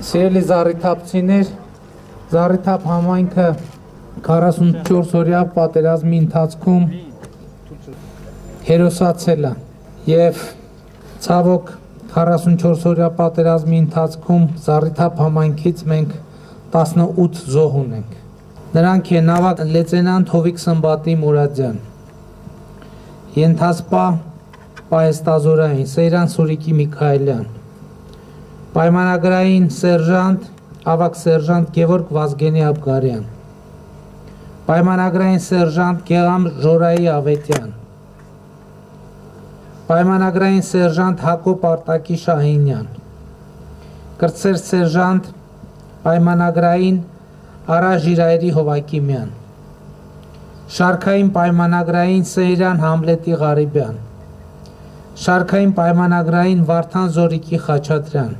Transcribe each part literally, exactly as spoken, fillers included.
Սիրելի զառիթափցիներ, Զառիթափ համայնքը քառասունչորս օրյա պատերազմի ընթացքում հերոսացել է եւ ցավոք քառասունչորս օրյա պատերազմի ընթացքում Զառիթափ համայնքից մենք տասնութ զոհ ունենք։ Նրանք են ավագ լեյտենանտ Հովիկ Սմբատի Մուրադյան, ենթասպա պահեստազորային Սեյրան Սուրիկի Միքայելյան, պայմանագրային սերժանտ ավագ սերժանտ Գևորգ Վազգենի Աբգարյան, պայմանագրային սերժանտ Գեգամ Ժորայի Ավետյան, պայմանագրային սերժանտ Հակոբ Արտակի Շահինյան, կրտսեր սերժանտ պայմանագրային Արա Ժիրայրի Հովակիմյան, շարքային պայմանագրային Սեյրան Համլետի Ղարիբյան, շարքային պայմանագրային Վարդան Զորիկի Խաչատրյան,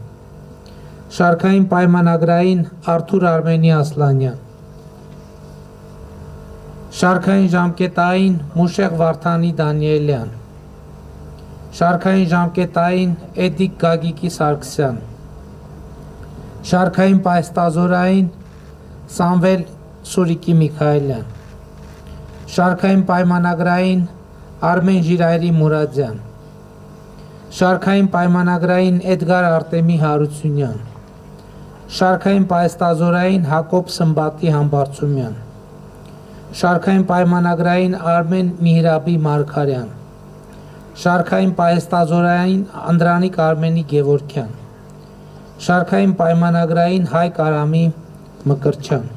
շարքային պայմանագրային Արթուր Արմենի Ասլանյան, շարքային ժամկետային Մուշեղ Վարդանի Դանիելյան, շարքային ժամկետային Էդիկ Գագիկի Սարգսյան, շարքային պահեստազորային Սամվել Սուրիկի Միքայելյան, շարքային պայմանագրային Արմեն Ժիրայրի Մուրադյան, շարքային պայմանագրային Էդգար Արտեմի Հարությունյան, շարքային պահեստազորային Հակոբ Սմբատի Համբարձումյան, շարքային պայմանագրային Արմեն Միհրաբի Մարգարյան, շարքային պահեստազորային Անդրանիկ Արմենի Գևորգյան, շարքային պայմանագրային Հայկ Արամի Մկրտչյան։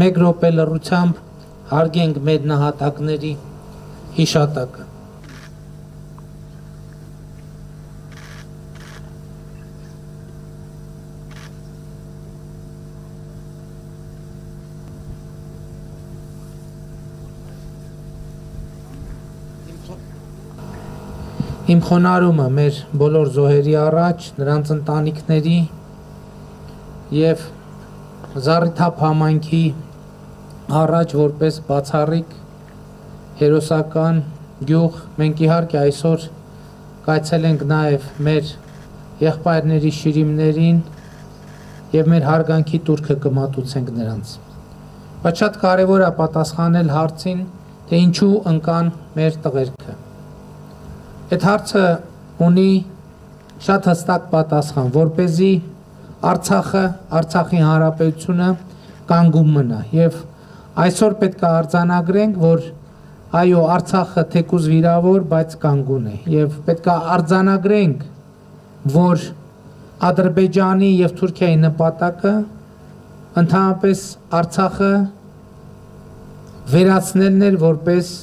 Մեկ րոպե լռությամբ հարգենք մեր նահատակների հիշատակը։ Իմ խոնարհումը մեր բոլոր զոհերի առաջ, նրանց ընտանիքների եւ Զառիթափ համայնքի առաջ որպես բացառիկ հերոսական գյուղ, մենք իհարկե այսօր կայցելենք նաեւ մեր եղբայրների շիրիմներին եւ մեր հարգանքի տուրքը կմատուցենք նրանց։ Բայց շատ կարեւոր է պատասխանել հարցին, թե ինչու ընկան մեր տղերքը։ Այդ հարցը ունի շատ հստակ պատասխան, որպեսզի Արցախը, Արցախի Հանրապետությունը կանգուն մնա եւ այսօր պետք է արձանագրենք, որ այո, Արցախը թեկուզ վիրավոր, բայց կանգուն է եւ պետք է արձանագրենք, որ Ադրբեջանի եւ Թուրքիայի նպատակը ընդհանրապես Արցախը վերացնելն էր որպես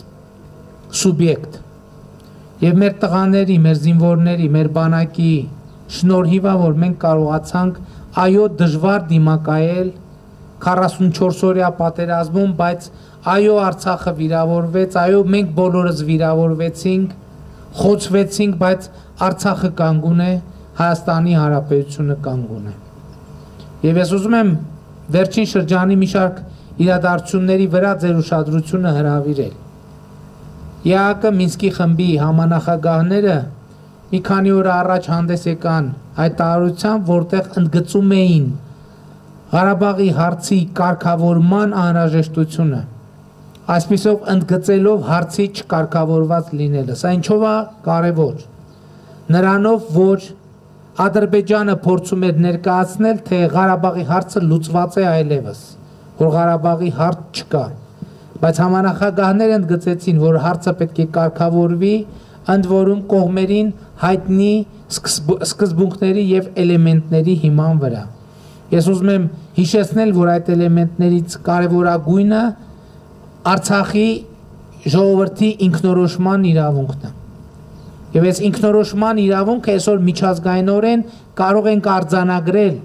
սուբյեկտ։ Եվ մեր տղաների, մեր զինվորների, մեր բանակի շնորհիվ է, որ մենք կարողացանք այո դժվար դիմակայել քառասունչորս օրյա պատերազմում, բայց այո Արցախը վիրավորվեց, այո մենք բոլորս վիրավորվեցինք, խոցվեցինք, բայց Արցախը կանգուն է, Հայաստանի Հանրապետությունը կանգուն է։ Եվ ես ուզում եմ վերջին շրջանի մի շարք իրադարձությունների վրա ձեր ուշադրությունը հրավիրել։ ԵԱՀԿ Մինսկի խմբի համանախագահները մի քանի օր առաջ հանդես եկան հայտարարությամբ, որտեղ ընդգծում էին Ղարաբաղի հարցի կարգավորման անհրաժեշտությունը, այսպիսով ընդգծելով հարցի չկարգավորված լինելը։ Սա ինչով է կարևոր։ Նրանով, որ Ադրբեջանը փորձում էր ներկայացնել, թե Ղարաբաղի հարցը լուծված է այլևս, որ Ղարաբաղի հարց չկա։ Բայց համանախագահները ընդգծեցին, որ հարցը պետք է կարգավորվի, ընդ որում կողմերին հայտնի սկզբունքների եւ էլեմենտների հիման վրա։ Ես ուզում եմ հիշեցնել, որ այդ էլեմենտներից կարևորագույնը Արցախի ժողովրդի ինքնորոշման իրավունքն է։ Եվ այս ինքնորոշման իրավունքը այսօր միջազգայինորեն կարող ենք արձանագրել,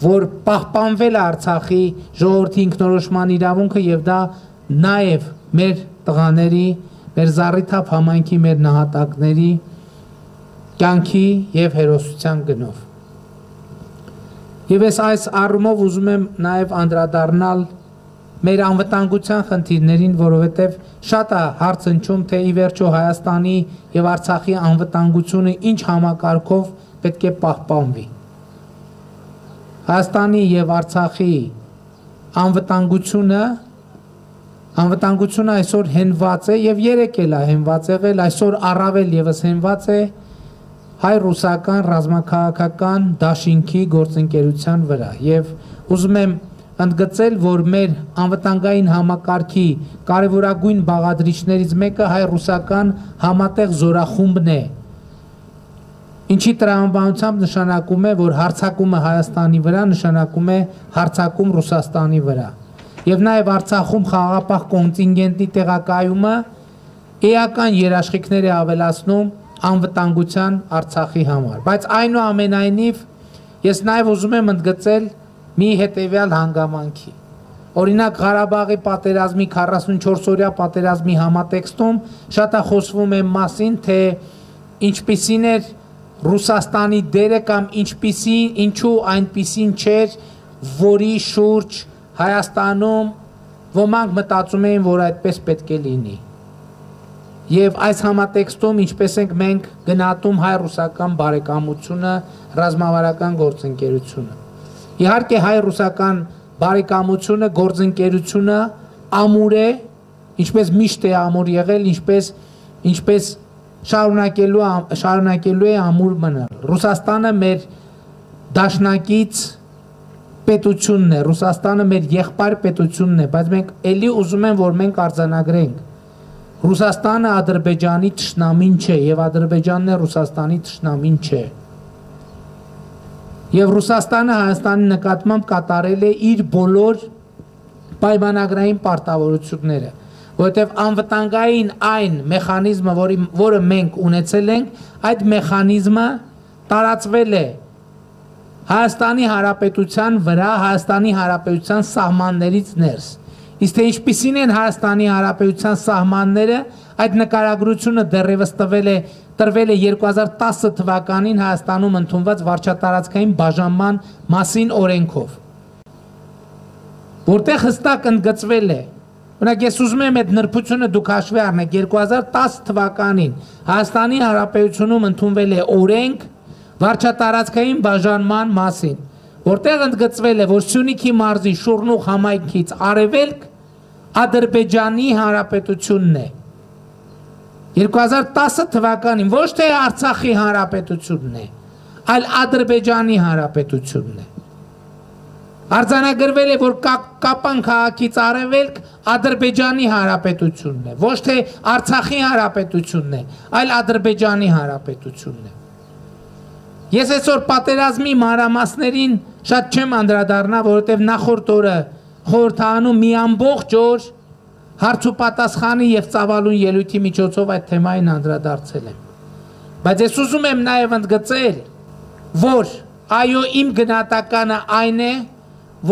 որ պահպանվել է Արցախի ժողովրդի ինքնորոշման իրավունքը եւ դա նաև մեր տղաների, մեր Զառիթափ համայնքի, մեր նահատակների կյանքի եւ հերոսության գնով։ Եվ ես այս առումով ուզում եմ նաև անդրադառնալ մեր անվտանգության խնդիրներին, որովհետև շատ է հարց հնչում, թե ի վերջո Հայաստանի եւ Արցախի անվտանգությունը ինչ համակարգով պետք է պահպանվի։ Հայաստանի եւ Արցախի անվտանգությունը անվտանգությունը այսօր հենված է եւ երեք էլ է հենված եղել, այսօր առավել եւս հենված է հայ-ռուսական ռազմաքաղաքական դաշինքի գործընկերության վրա եւ ուզում եմ ընդգծել, որ մեր անվտանգային համակարգի կարևորագույն բաղադրիչներից մեկը հայ-ռուսական համատեղ զորախումբն է, ինչի տրամաբանությամբ նշանակում է, որ հարձակումը Հայաստանի վրա նշանակում է հարձակում Ռուսաստանի վրա եւ նաեւ Արցախում խաղաղապահ կոնտինգենտի տեղակայումը էական երաշխիքներ է ավելացնում անվտանգության Արցախի համար, բայց այնուամենայնիվ ես նաեւ ուզում եմ ընդգծել մի հետևյալ հանգամանքի։ Օրինակ Ղարաբաղի պատերազմի քառասունչորս-օրյա պատերազմի համատեքստում շատ է խոսվում է մասին, թե ինչպիսին էր Ռուսաստանի դերը կամ ինչպիսին, ինչու այնպիսին չէր, որի շուրջ Հայաստանում ոմանք մտածում էին, որ այդպես պետք է լինի։ Եվ այս համատեքստում ինչպես ենք մենք գնահատում հայ-ռուսական բարեկամությունը, ռազմավարական գործընկերությունը։ Իհարկե հայ-ռուսական բարեկամությունը, գործընկերությունը ամուր է, ինչպես միշտ է ամուր եղել, ինչպես ինչպես շարունակելու շարունակելու է ամուր մնալ։ Ռուսաստանը մեր դաշնակից պետությունն է, Ռուսաստանը մեր եղբայր պետությունն է, բայց մենք էլի ուզում են, որ մենք արձանագրենք։ Ռուսաստանը Ադրբեջանի թշնամին չէ եւ Ադրբեջանն է Ռուսաստանի թշնամին չէ։ Եվ Ռուսաստանը Հայաստանի նկատմամբ կատարել է իր բոլոր պայմանագրային պարտավորությունները, որովհետև անվտանգային այն մեխանիզմը, որի, որը մենք ունեցել ենք, այդ մեխանիզմը տարածվել է Հայաստանի Հանրապետության վրա, Հայաստանի Հանրապետության սահմաններից ներս։ Իսկ թե ինչպիսին են Հայաստանի Հանրապետության սահմանները, այդ նկարագրությունը դեռևս տվել է տրվել է երկու հազար տասը թվականին Հայաստանում ընդունված վարչատարածքային բաժանման մասին օրենքով, որտեղ հստակ ընդգծվել է, օրինակ ես ուզում եմ այդ նրբությունը դուք հաշվի առնեք, երկու հազար տասը թվականին Հայաստանի Հանրապետությունում ընդունվել է օրենք վարչատարածքային բաժանման մասին, որտեղ ընդգծվել է, որ Սյունիքի մարզի Շուռնուղ համայնքից արևելք Ադրբեջանի Հանրապետությունն է։ երկու հազար տասը թվականին ոչ թե Արցախի Հանրապետությունն է, այլ Ադրբեջանի Հանրապետությունն է։ Արձանագրվել է, որ Կապան քաղաքից արևելք Ադրբեջանի Հանրապետությունն է, ոչ թե Արցախի Հանրապետությունն է, այլ Ադրբեջանի Հանրապետությունն է։ Ես այսօր պատերազմի մանրամասներին շատ չեմ անդրադառնա, որովհետև նախորդ օրը խորհրդարանում մի ամբողջ օր հարց ու պատասխանի եւ ծավալուն ելույթի միջոցով այդ թեմային անդրադարձել եմ։ Բայց ես ուզում եմ նաեւ ընդգծել, որ այո, իմ գնահատականը այն է,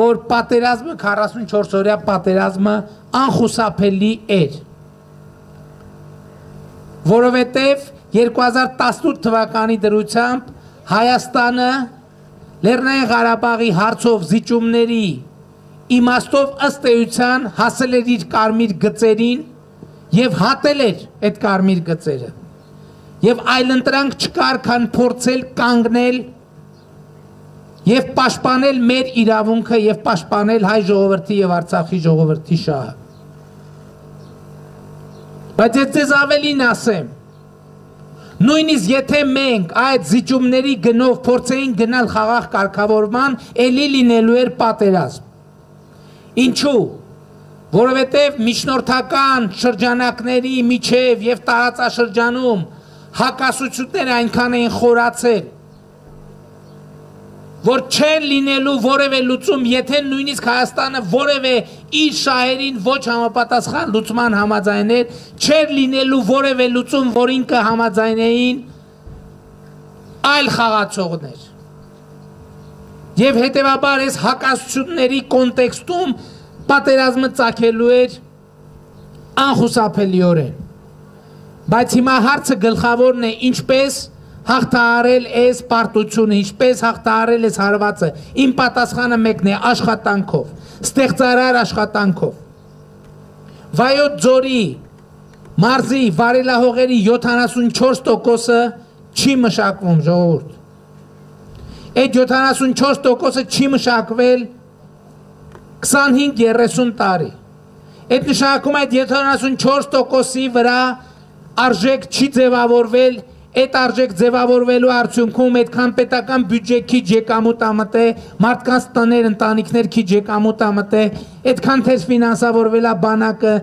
որ պատերազմը քառասունչորս օրյա պատերազմը անխուսափելի էր, որովհետև երկու հազար տասնութ թվականի դրությամբ Հայաստանը Լեռնային Ղարաբաղի հարցով զիջումների իմաստով ըստ էության հասել էր իր կարմիր գծերին եւ հատել էր այդ կարմիր գծերը եւ այլընտրանք չկար, քան փորձել կանգնել եւ պաշտպանել մեր իրավունքը եւ պաշտպանել հայ ժողովրդի եւ Արցախի ժողովրդի շահը։ Բայց ես ձեզ ավելին ասեմ, նույնիսկ եթե մենք այդ զիջումների գնով փորձեին գնալ խաղաղ կարգավորման, էլի լինելու էր պատերազմ։ Ինչու՞։ Որովհետև միջնորդական շրջանակների միջև եւ տարածաշրջանում հակասությունները այնքան էին խորացել, որ չեն լինելու որևէ լուծում, եթե նույնիսկ Հայաստանը որևէ իր շահերին ոչ համապատասխան լուծման համաձայներ, չէր լինելու որևէ լուծում, որին կհամաձայնեին այլ խաղացողներ։ Եվ հետևաբար այս հակասությունների կոնտեքստում պատերազմը ծագելու էր անխուսափելիորեն։ Բայց հիմա հարցը գլխավորն է, ինչպես հաղթահարել այս պարտությունը, ինչպես հաղթահարել այս հարվածը։ Իմ պատասխանը մեկն է՝ աշխատանքով, ստեղծարար աշխատանքով։ Վայոց ձորի մարզի վարելահողերի յոթանասունչորս տոկոսը չի մշակվում, ժողովուրդ։ Այդ յոթանասունչորս տոկոսը չի մշակվել քսանհինգ երեսուն տարի։ Այդ նշանակում այդ յոթանասունչորս տոկոսի վրա արժեք չի ձևավորվել, այդ արժեք ձևավորվելու արդյունքում այդքան պետական բյուջե քիչ եկամուտ ամտե, մարդկանց տներ, ընտանիքներ քիչ եկամուտ ամտե, այդքան թեր ֆինանսավորվել է բանակը,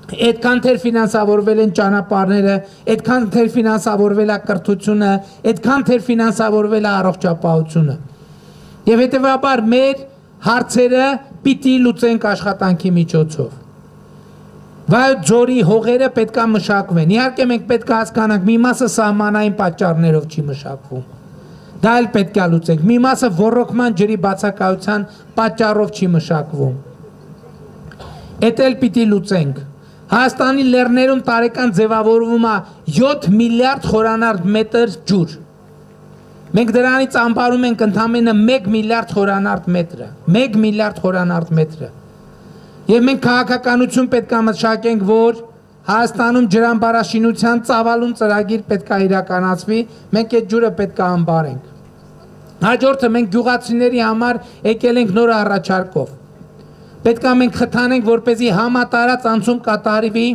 այդքան թեր ֆինանսավորվել են ճանապարհները, այդքան թեր ֆինանսավորվել է կրթությունը, այդքան թեր ֆինանսավորվել է առողջապահությունը։ Եվ հետևաբար մեր հարցերը պիտի լուծենք աշխատանքի միջոցով։ Վայոց ձորի հողերը պետք է մշակվեն։ Իհարկե մենք պետք է հասկանանք, մի մասը սահմանային պատճառներով չի մշակվում։ Դա էլ պետք է լուծենք։ Մի մասը ոռոգման ջրի բացակայության պատճառով չի մշակվում։ Էդ էլ պիտի լուծենք։ Հայաստանի լեռներում տարեկան ձևավորվում է յոթ միլիարդ խորանարդ մետր ջուր։ Մենք դրանից ամբարում ենք ընդամենը մեկ միլիարդ խորանարդ մետրը, մեկ միլիարդ խորանարդ մետրը։ Եվ մենք քաղաքականություն պետք է մշակենք, որ Հայաստանում ջրամբարաշինության ծավալուն ծրագիր պետք է իրականացվի, մենք այդ ջուրը պետք է ամբարենք։ Հաջորդը մենք գյուղացիների համար եկել ենք նոր առաջարկով։ Պետք է մենք խթանենք, որպեսզի համատարած անցում կատարվի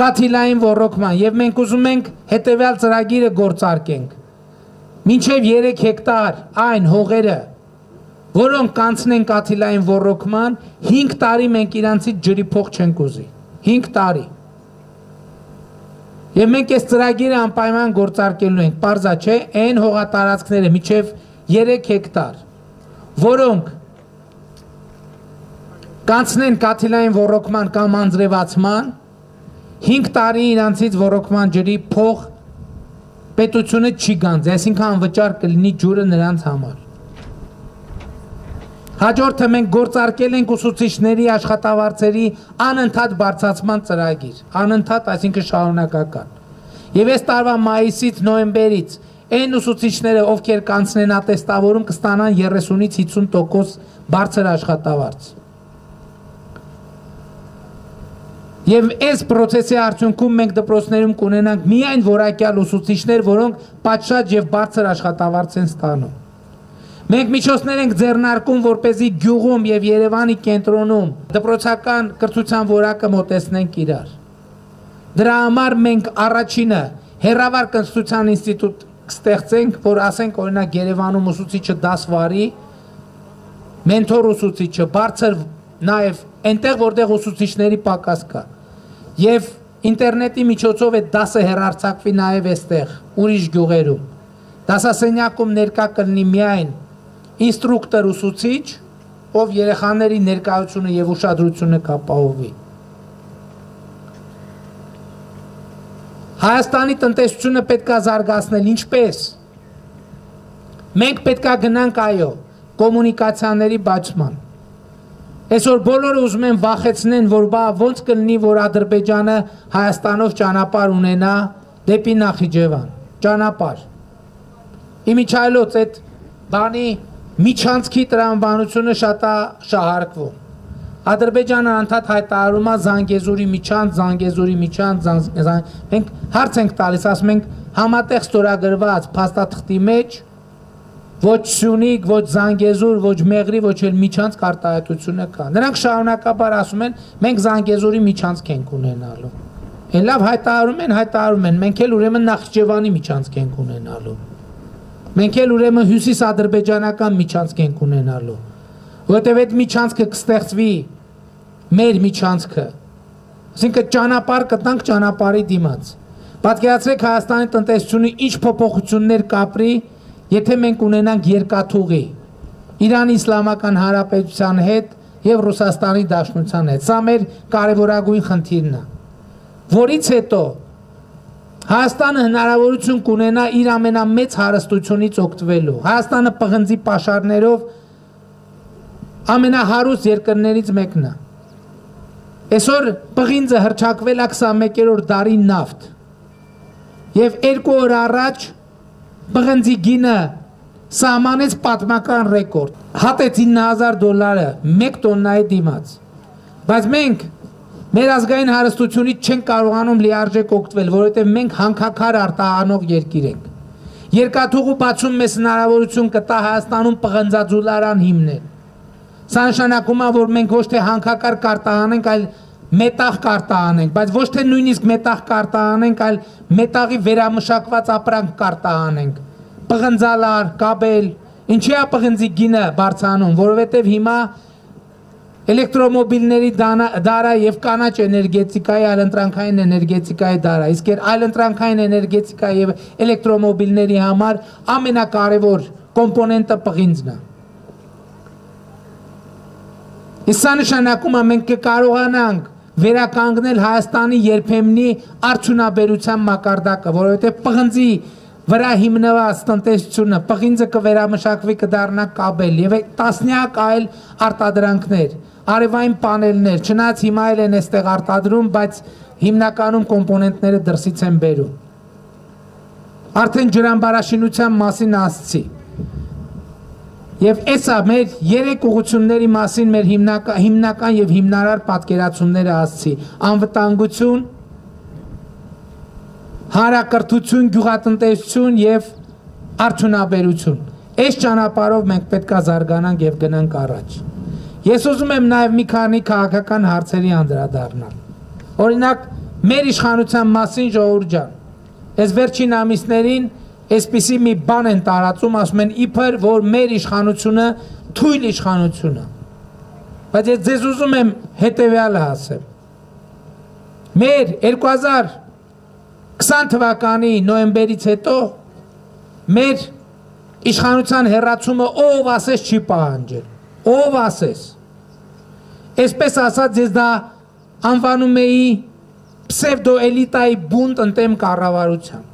կաթիլային ոռոգման, եւ մենք ուզում ենք հետեւյալ ծրագիրը գործարկենք։ Մինչև երեք հեկտար այն հողերը, որոնք կանցնեն կաթիլային ոռոգման, հինգ տարի մենք իրանցից ջրի փող չենք ուզի։ հինգ տարի։ Եվ մենք այս ծրագիրը անպայման գործարկելու ենք, պարզա չէ, այն հողատարածքները մինչև երեք հեկտար, որոնք կանցնեն կաթիլային ոռոգման կամ անձրևացման, հինգ տարի իրանցից ոռոգման ջրի փող պետությունը չի գանձի, այսինքն անվճար կլինի ջուրը նրանց համար։ Հաջորդը մենք գործարկել ենք ուսուցիչների աշխատավարձերի անընդհատ բարձրացման ծրագիր, անընդհատ, այսինքն շարունակական։ Եվ այս տարվա մայիսից նոյեմբերից այն ուսուցիչները, ովքեր կանցնեն ատեստավորում, կստանան երեսունից հիսուն տոկոս բարձր աշխատավարձ։ Եվ այս պրոցեսի արդյունքում մենք դպրոցներում կունենանք միայն որակյալ ուսուցիչներ, որոնք պատշաճ եւ բարձր աշխատավարձ են ստանում։ Մենք միջոցներ ենք ձեռնարկում, որպեսզի գյուղում եւ Երևանի կենտրոնում դպրոցական կրթության որակը մոտեցնենք իրար։ Դրա համար մենք առաջինը հերավար կրթության ինստիտուտ կստեղծենք, որ ասենք օրինակ Երևանում ուսուցիչը դաս վարի, մենթոր ուսուցիչը, բարձր նաեւ այնտեղ, որտեղ ուսուցիչների պակաս կա։ Եվ ինտերնետի միջոցով այդ դասը հեռարձակվի նաև այստեղ, ուրիշ գյուղերում։ Դասասենյակում ներկա կլինի միայն ինստրուկտոր ուսուցիչ, ով երեխաների ներկայությունը եւ ուշադրությունը կապահովի։ Հայաստանի տնտեսությունը պետք է զարգացնել, ինչպես։ Մենք պետք է գնանք այո, կոմունիկացիաների բացման։ Այսօր բոլորը ուզում են վախեցնեն, որ բա ոնց կլինի, որ Ադրբեջանը Հայաստանով ճանապարհ ունենա դեպի Նախիջևան, ճանապարհ։ Իմիջայլոց այդ բանի միջանցքի տրամաբանությունը շատ է շահարկվում։ Ադրբեջանը անդադ հայտարարում է Զանգեզուրի միջանց, Զանգեզուրի միջանց, մենք հարց ենք տալիս, ասում ենք համատեղ ստորագրված փաստաթղթի մեջ ոչ Սյունիք, ոչ Զանգեզուր, ոչ Մեղրի, ոչ էլ միջանցք արտահայտությունը կա։ Նրանք շարունակաբար ասում են, մենք Զանգեզուրի միջանցք ենք ունենալու։ Են լավ հայտարարում են, հայտարարում են, մենք էլ ուրեմն Նախիջևանի միջանցք ենք ունենալու։ Մենք էլ ուրեմն հյուսիսադրբեջանական միջանցք ենք ունենալու։ Որտեւ այդ միջանցքը կստեղծվի մեր միջանցքը։ Այսինքն ճանապարհ կտանք ճանապարհի դիմաց։ Պատկերացրեք Հայաստանի տնտեսությունը ինչ փոփոխություններ կապրի, եթե մենք ունենանք երկաթուղի Իրանի Իսլամական Հանրապետության հետ եւ Ռուսաստանի Դաշնության հետ։ Սա մեր կարևորագույն խնդիրն է, որից հետո Հայաստանը հնարավորություն կունենա իր ամենամեծ հարստությունից օգտվելու։ Հայաստանը պղնձի պաշարներով ամենահարուստ երկրներից մեկն է։ Այսօր պղինձը հռչակվել է քսանմեկերորդ դարի նավթ։ Եվ երկու օր առաջ պղնձի գինը սահմանեց պատմական ռեկորդ։ Հատեց ինը հազար դոլարը մեկ տոննայի դիմաց։ Բայց մենք մեր ազգային հարստությունից չենք կարողանում լիարժեք օգտվել, որովհետև մենք հանքաքար արտահանող երկիր ենք։ Երկաթուղու բացում մեզ հնարավորություն կտա Հայաստանում պղնձաձուլարան հիմնել։ Սա նշանակում է, որ մենք ոչ թե հանքակար կարտահանենք, այլ մետաղ կարտահանենք, բայց ոչ թե նույնիսկ մետաղ կարտահանենք, այլ մետաղի վերամշակված ապրանք կարտահանենք։ Պղնձալար, կաբել, ինչի է պղնձի գինը բարձրանում, որովհետև հիմա էլեկտրոմոբիլների դարա եւ կանաչ էներգետիկայի, այլընտրանքային էներգետիկայի դարա, իսկ այլընտրանքային էներգետիկա եւ էլեկտրոմոբիլների համար ամենակարևոր կոմպոնենտը պղինձն է։ Իսկ սա նշանակում է մենք կկարողանանք վերականգնել Հայաստանի երբեմնի արդյունաբերության մակարդակը, որովհետեւ պղնձի վրա հիմնված տնտեսությունը, պղինձը կվերամշակվի, կդառնա կաբել եւ տասնյակ այլ արտադրանքներ, արևային պանելներ, չնայած հիմա էլ են այստեղ արտադրում, բայց հիմնականում կոմպոնենտները դրսից են բերում։ Արդեն ջրամբարաշինության մասին ասացի։ Եվ էսա մեր երեք ուղղությունների մասին մեր հիմնական, հիմնական եւ հիմնարար պատկերացումները ասացի։ Անվտանգություն, հանրակրթություն, գյուղատնտեսություն եւ արդյունաբերություն։ Այս ճանապարհով մենք պետք է զարգանանք եւ գնանք առաջ։ Ես ուզում եմ նաեւ մի քանի քաղաքական հարցերի անդրադառնալ։ Օրինակ, մեր իշխանության մասին, ժողովուրդ ջան, այս վերջին ամիսներին այսպիսի մի բան են տարածում, ասում են իբր որ մեր իշխանությունը թույլ իշխանություն է։ Բայց ես ձեզ ուզում եմ հետեւյալը ասեմ։ Մեր երկու հազար քսան թվականի նոյեմբերից հետո մեր իշխանության հեռացումը ով ասես չի պահանջել, ով ասես։ Այսպես ասած ես դա անվանում էի պսևդո էլիտայի բունտ ընդդեմ կառավարության։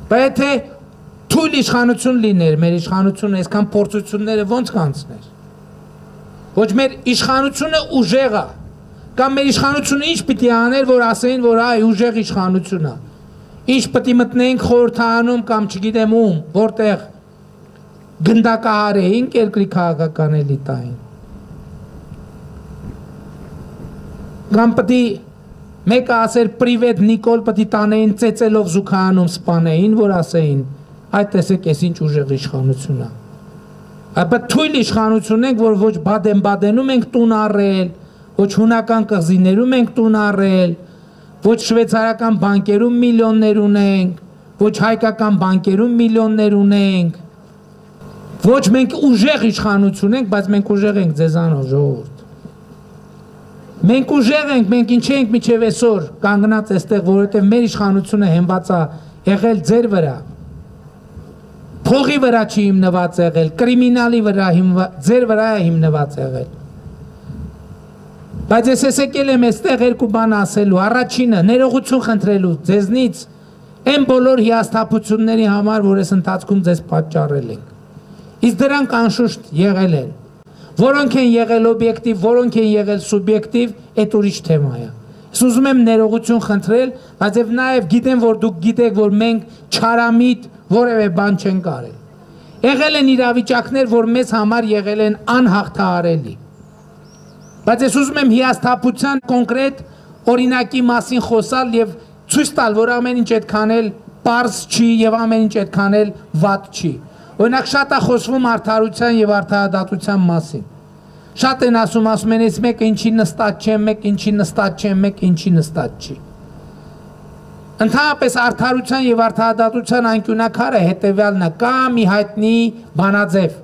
Բայց եթե թույլ իշխանություն լիներ, մեր իշխանությունը այսքան փորձությունները ո՞նց կանցներ։ Ոչ մեր իշխանությունը ուժեղ է, կամ մեր իշխանությունը ինչ պիտի աներ, որ ասեին, որ այ ուժեղ իշխանություն է։ Ինչ պիտի մտնեինք խորհրդարանում կամ չգիտեմ ում, որտեղ գնդակահարեինք երկրի քաղաքական էլիտային։ Կամ պիտի մեկը ասեր պրիվետ Նիկոլ պիտի տանեին ծեծելով զուգահանում սպանեին, որ ասեին, այդ տեսեք ես ինչ ուժեղ իշխանություն է։ Բայց թույլ իշխանություն ենք, որ ոչ Բադեն-Բադենում ենք տուն առել, ոչ հունական կղզիներում ենք տուն առել, ոչ շվեյցարական բանկերում միլիոններ ունենք, ոչ հայկական բանկերում միլիոններ ունենք, ոչ մենք ուժեղ իշխանություն ենք, բայց մենք ուժեղ ենք ձեզանով ժողովուրդ։ Մենք ուժեղ ենք, մենք ինչ ենք միջև այսօր կանգնած այստեղ, որովհետև մեր իշխանությունը հենված է եղել ձեր վրա։ Փողի վրա չի հիմնված եղել, կրիմինալի վրա հիմնված, ձեր վրա է հիմնված եղել։ Բայց ես ես եկել եմ այստեղ երկու բան ասելու, առաջինը ներողություն խնդրելու ձեզնից այն բոլոր հիասթափությունների համար, որ այս ընթացքում ձեզ պատճառել ենք։ Իսկ դրանք անշուշտ եղել են, որոնք են եղել օբյեկտիվ, որոնք են եղել սուբյեկտիվ, այդ ուրիշ թեմա է։ Ես ուզում եմ ներողություն խնդրել, բայց եւ նաեւ գիտեմ, որ դուք գիտեք, որ մենք չարամիտ որևէ բան չենք արել։ Եղել են իրավիճակներ, որ մեզ համար եղել են անհաղթահարելի։ Բայց ես ուզում եմ հիասթափության կոնկրետ օրինակի մասին խոսալ եւ ցույց տալ, որ ամեն ինչ այդքան էլ պարզ չի եւ ամեն ինչ այդքան էլ վատ չի։ Օրինակ շատ է խոսվում արդարության եւ արդարադատության մասին։ Շատ են ասում, ասում են, այս մեկը ինչի նստած չէ, մեկ ինչի նստած չէ, մեկ ինչի նստած չի։ Ընդհանրապես արդարության եւ արդարադատության անկյունակարը հետեւյալն է, կա մի հայտնի բանաձև։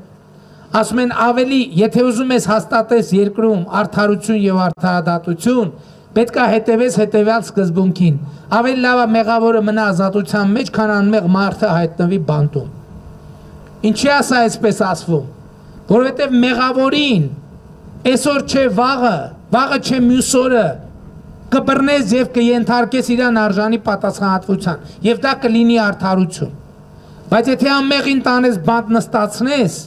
Ասում են ավելի, եթե ուզում ես հաստատես երկրում արդարություն եւ արդարադատություն, պետք է հետևես հետեւյալ սկզբունքին։ Ավելի լավ է մեղավորը մնա ազատության մեջ, քան անմեղ մարդը հայտնվի բանտում։ Ինչի է սա այսպես ասվում, որովհետև մեղավորին այսօր չէ վաղը, վաղը չէ մյուս օրը կբռնես եւ կենթարկես իրան արժանի պատասխանատվության եւ դա կլինի արդարություն։ Բայց եթե անմեղին տանես բանտ նստացնես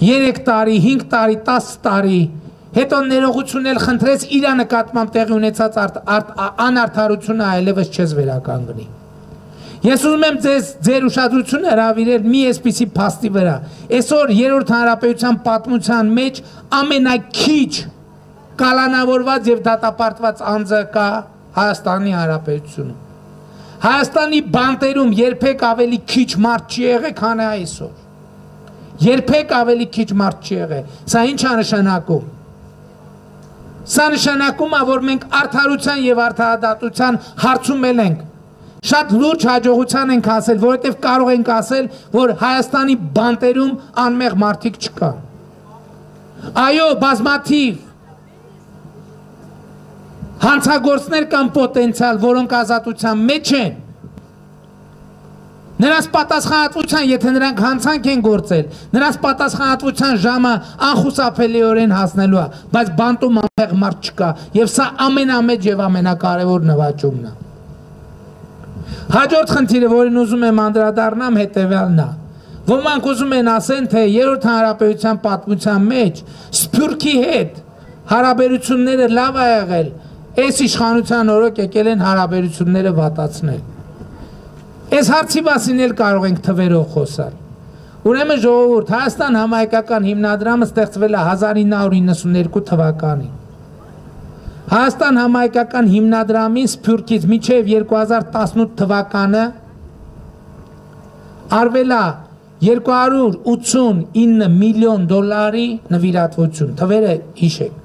երեք տարի, հինգ տարի, տասը տարի, հետո ներողություն էլ խնդրես իր նկատմամբ տեղի ունեցած անարդարությունը այլևս չես վերականգնի։ Ես ուզում եմ ձեզ ձեր ուշադրությունը հրավիրել մի այսպիսի փաստի վրա։ Այսօր երրորդ հանրապետության պատմության մեջ ամենաքիչ կալանավորված եւ դատապարտված անձը կա Հայաստանի Հանրապետությունում։ Հայաստանի բանտերում երբեք ավելի քիչ մարդ չի եղել, քան այսօր։ Երբեք ավելի քիչ մարդ չի եղել։ Սա ինչ է նշանակում։ Սա նշանակում է, որ մենք արդարության եւ արդարադատության հարցում ենք։ Շատ լուրջ հաջողության ենք ասել, որովհետեւ կարող ենք ասել, որ Հայաստանի բանտերում անմեղ մարդիկ չկան։ Այո, բազմաթիվ հանցագործներ կան պոտենցիալ, որոնք ազատության մեջ են։ Նրանց պատասխանատվության, եթե նրանք հանցանք են գործել, նրանց պատասխանատվության ժամը անխուսափելիորեն հասնելու է, բայց բանտում անմեղ մարդ չկա, եւ սա ամենամեծ եւ ամենակարևոր նվաճումն է։ Հաջորդ խնդիրը, որին ուզում եմ անդրադառնամ, հետեւյալն է։ Ոմանք ուզում են ասեն, թե երրորդ հանրապետության պատմության մեջ Սփյուռքի հետ հարաբերությունները լավ է եղել, այս իշխանության օրոք եկել են հարաբերությունները վատացնել։ Այս հարցի մասին էլ կարող ենք թվերով խոսալ։ Ուրեմն ժողովուրդ, Հայաստան համահայկական հիմնադրամը ստեղծվել է հազար ինը հարյուր իննսուններկու թվականին։ Հայաստան համահայկական հիմնադրամին Սփյուռքից մինչև երկու հազար տասնութ թվականը արվել է երկու հարյուր ութսունինը միլիոն դոլարի նվիրատվություն, թվերը հիշեք։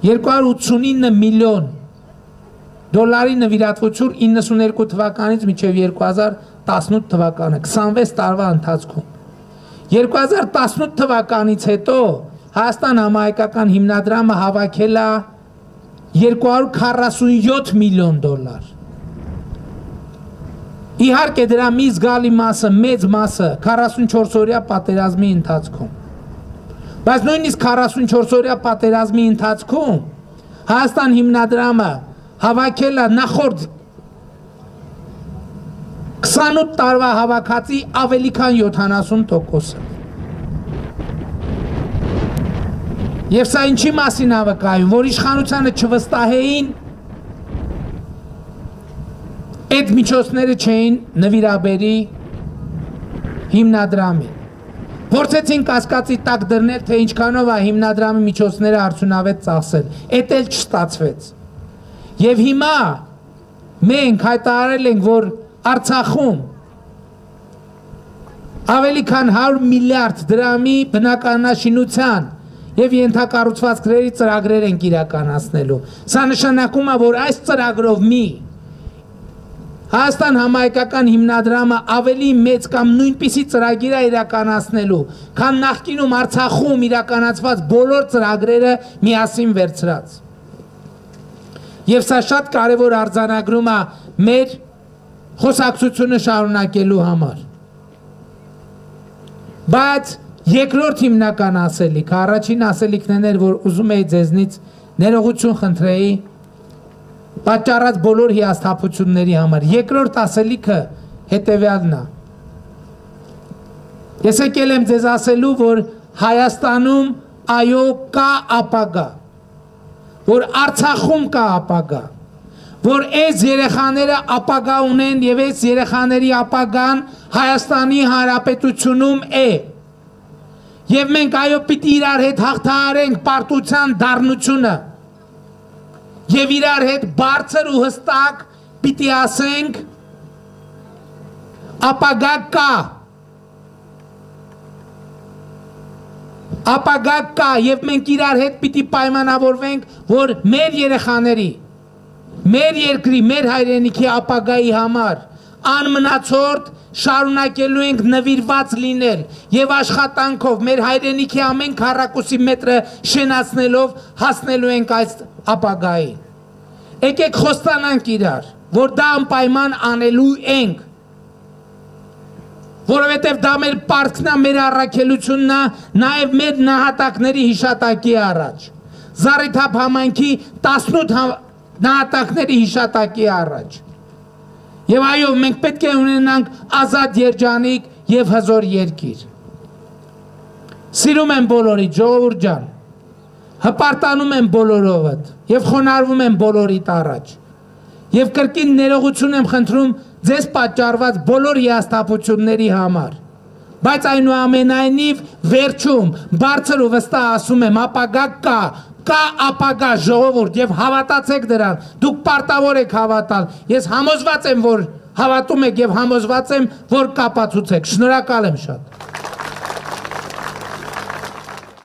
երկու հարյուր ութսունինը միլիոն դոլարի նվիրատվություն իննսուներկու թվականից մինչև երկու հազար տասնութ թվականը, քսանվեց տարվա ընթացքում։ երկու հազար տասնութ թվականից հետո Հայաստան համահայկական հիմնադրամը հավաքել է երկու հարյուր քառասունյոթ միլիոն դոլար։ Իհարկե դրա մի զգալի մասը, մեծ մասը քառասունչորս օրյա պատերազմի ընթացքում։ Բայց նույնիսկ քառասունչորս օրյա պատերազմի ընթացքում Հայաստան հիմնադրամը հավաքել է նախորդ քսանութ տարվա հավաքածի ավելի քան յոթանասուն տոկոսը։ Եվ սա ինչի մասին է վկայում, որ իշխանությանը չվստահեին, այդ միջոցները չէին նվիրաբերի հիմնադրամին։ Փորձեցին կասկածի տակ դրնել, թե ինչքանով է հիմնադրամի միջոցները արդյունավետ ծախսել, էդ էլ չստացվեց։ Եվ հիմա մենք հայտարարել ենք, որ Արցախում ավելի քան հարյուր միլիարդ դրամի բնակարանաշինության եւ ենթակառուցվածքների ծրագրեր ենք իրականացնելու։ Սա նշանակում է, որ այս ծրագրով մի Հայաստան համահայկական հիմնադրամը ավելի մեծ կամ նույնպիսի ծրագիր է իրականացնելու, քան նախկինում Արցախում իրականացված բոլոր ծրագրերը միասին վերցրած։ Եվ սա շատ կարևոր արձանագրում է մեր խոսակցությունը շարունակելու համար։ Բայց երկրորդ հիմնական ասելիքը, առաջին ասելիքն էր, որ ուզում էի ձեզնից ներողություն խնդրեի պատճառած բոլոր հիասթափությունների համար։ Երկրորդ ասելիքը հետևյալն է։ Ես եկել եմ ձեզ ասելու, որ Հայաստանում այո կա ապագա, որ Արցախում կա ապագա, որ այս երեխաները ապագա ունեն եւ այս երեխաների ապագան Հայաստանի Հանրապետությունում է։ Եվ մենք այո պիտի իրար հետ հաղթահարենք պարտության դառնությունը եւ իրար հետ բարձր ու հստակ պիտի ասենք ապագա կա, ապագա կա եւ մենք իրար հետ պիտի պայմանավորվենք, որ մեր երեխաների, մեր երկրի, մեր հայրենիքի ապագայի համար անմնացորդ շարունակելու ենք նվիրված լինել եւ աշխատանքով մեր հայրենիքի ամեն քառակուսի մետրը շենացնելով հասնելու ենք այս ապագային։ Եկեք խոստանանք իրար, որ դա անպայման անելու ենք, որովհետեւ դա մեր պարտքն է, մեր առաքելությունն է, նաեւ մեր նահատակների հիշատակի առաջ, Զառիթափ համայնքի տասնութ նահատակների հիշատակի առաջ։ Եվ այո, մենք պետք է ունենանք ազատ երջանիկ եւ հզոր երկիր։ Սիրում եմ բոլորիդ, ժողովուրդ ջան, հպարտանում եմ բոլորովդ եւ խոնարհվում եմ բոլորիդ առաջ։ Եվ կրկին ներողություն եմ խնդրում ձեզ պատճառված բոլոր հիասթափությունների համար։ Բայց այնուամենայնիվ վերջում բարձր ու վստահ ասում եմ, ապագա կա, կա ապագա ժողովուրդ եւ հավատացեք դրան, դուք պարտավոր եք հավատալ, ես համոզված եմ, որ հավատում եք եւ համոզված եմ, որ կապացուցեք, շնորհակալ եմ շատ։